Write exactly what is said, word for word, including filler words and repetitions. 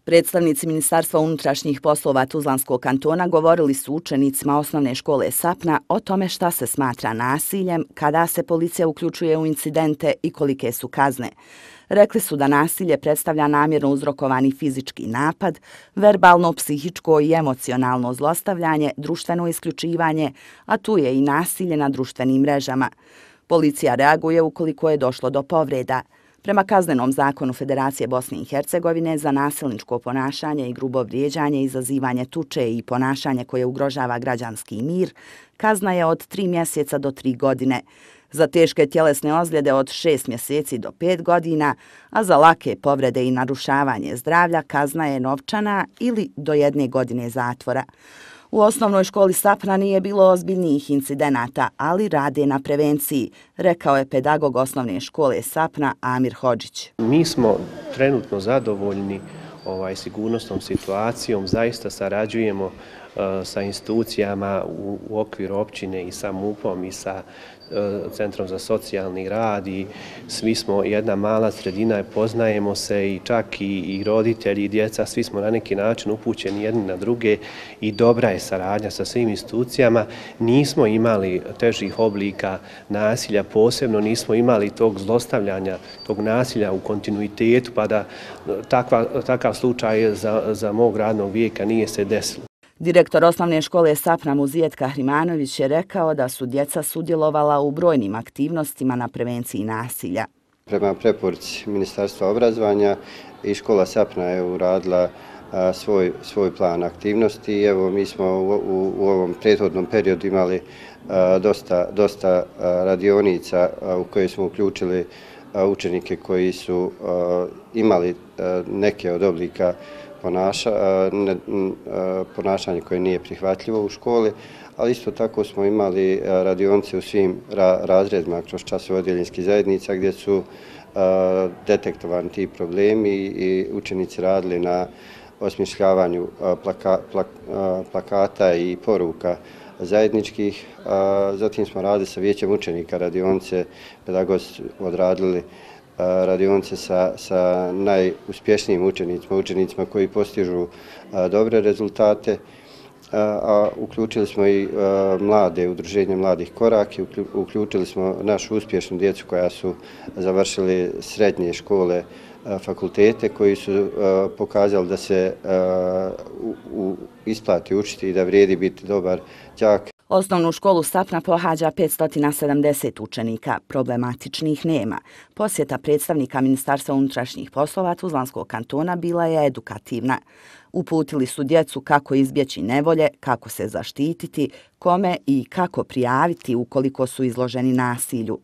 Predstavnici Ministarstva unutrašnjih poslova Tuzlanskog kantona govorili su učenicima osnovne škole Sapna o tome šta se smatra nasiljem, kada se policija uključuje u incidente i kolike su kazne. Rekli su da nasilje predstavlja namjerno uzrokovani fizički napad, verbalno, psihičko i emocionalno zlostavljanje, društveno isključivanje, a tu je i nasilje na društvenim mrežama. Policija reaguje ukoliko je došlo do povreda. Prema Kaznenom zakonu Federacije Bosne i Hercegovine za nasilničko ponašanje i grubo vrijeđanje, izazivanje tuče i ponašanje koje ugrožava građanski mir, kazna je od tri mjeseca do tri godine. Za teške tjelesne ozljede od šest mjeseci do pet godina, a za lake povrede i narušavanje zdravlja kazna je novčana ili do jedne godine zatvora. U osnovnoj školi Sapna nije bilo ozbiljnijih incidenata, ali rade na prevenciji, rekao je pedagog osnovne škole Sapna Amir Hodžić. Mi smo trenutno zadovoljni ovaj, sigurnosnom situacijom, zaista sarađujemo uh, sa institucijama u, u okviru općine i sa MUP-om i sa uh, Centrom za socijalni rad i svi smo jedna mala sredina, poznajemo se i čak i, i roditelji i djeca, svi smo na neki način upućeni jedni na druge i dobra je saradnja sa svim institucijama. Nismo imali težih oblika nasilja, posebno nismo imali tog zlostavljanja, tog nasilja u kontinuitetu, pa da takva, takav slučaj za, za mog radnog vijeka nije se desilo. Direktor osnovne škole Sapna Muzijet Kahrimanović je rekao da su djeca sudjelovala u brojnim aktivnostima na prevenciji nasilja. Prema preporuci Ministarstva obrazovanja i škola Sapna je uradila a, svoj, svoj plan aktivnosti i evo mi smo u, u, u ovom prethodnom periodu imali a, dosta, dosta a, radionica a, u koje smo uključili a, učenike koji su a, imali a, neke od oblika Ponaša, ne, ponašanje koje nije prihvatljivo u školi, ali isto tako smo imali radionice u svim ra, razredima kroz časove odjeljenskih zajednica gdje su a, detektovani ti problemi i učenici radili na osmišljavanju plaka, plak, plakata i poruka zajedničkih. A, zatim smo radili sa vijećem učenika radionice, pedagozi odradili radionice sa, sa najuspješnijim učenicima, učenicima koji postižu a, dobre rezultate, a, a uključili smo i a, mlade, udruženje mladih koraki, uključili smo našu uspješnu djecu koja su završili srednje škole, a, fakultete, koji su a, pokazali da se a, u, u isplati učiti i da vrijedi biti dobar đak. Osnovnu školu Sapna pohađa petsto sedamdeset učenika, problematičnih nema. Posjeta predstavnika Ministarstva unutrašnjih poslova Tuzlanskog kantona bila je edukativna. Uputili su djecu kako izbjeći nevolje, kako se zaštititi, kome i kako prijaviti ukoliko su izloženi nasilju.